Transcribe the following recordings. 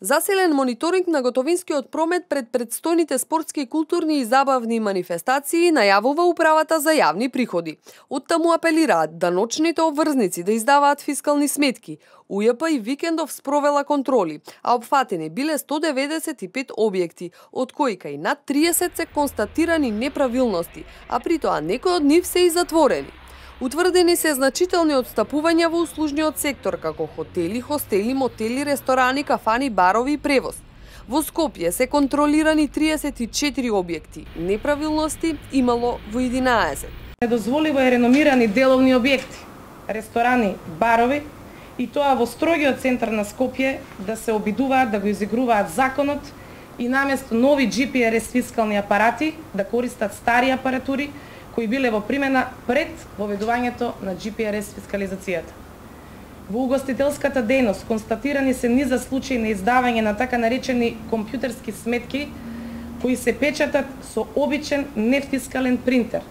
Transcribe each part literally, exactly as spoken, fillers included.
Засилен мониторинг на готовинскиот промет пред предстојните спортски, културни и забавни манифестации најавува Управата за јавни приходи. Оттаму апелираат даночните обврзници да издаваат фискални сметки. УЈП и викендов спровела контроли, а опфатени биле сто деветдесет и пет објекти, од кои кај над триесет се констатирани неправилности, а при тоа некои од нив се и затворени. Утврдени се значителни отстапувања во услужниот сектор, како хотели, хостели, мотели, ресторани, кафани, барови и превоз. Во Скопје се контролирани триесет и четири објекти, неправилности имало во единаесет. Недозволиво е реномирани деловни објекти, ресторани, барови, и тоа во строгиот центар на Скопје да се обидуваат да го изигруваат законот и наместо нови Джи Пи Ар Ес фискални апарати да користат стари апаратури кои биле во примена пред воведувањето на Джи Пи Ар Ес фискализацијата. Во угостителската дејност констатирани се низа случаи на издавање на така наречени компјутерски сметки кои се печатат со обичен нефискален принтер,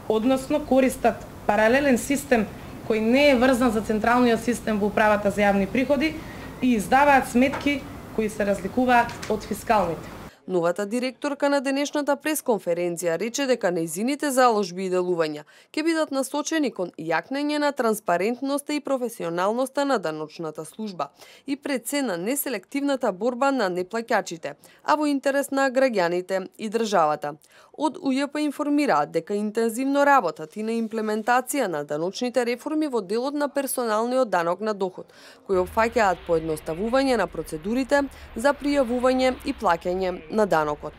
односно користат паралелен систем кој не е врзан за централниот систем во Управата за јавни приходи и издаваат сметки кои се разликуваат од фискалните. Новата директорка на денешната пресконференција рече дека нејзините заложби и делувања ќе бидат насочени кон јакнење на транспарентноста и професионалноста на даночната служба и пред се на неселективната борба на неплаќачите, а во интерес на граѓаните и државата. Од УЈП информираат дека интензивно работат и на имплементација на даночните реформи во делот на персоналниот данок на доход, кои опфаќаат поедноставување на процедурите за пријавување и плаќање на данокот.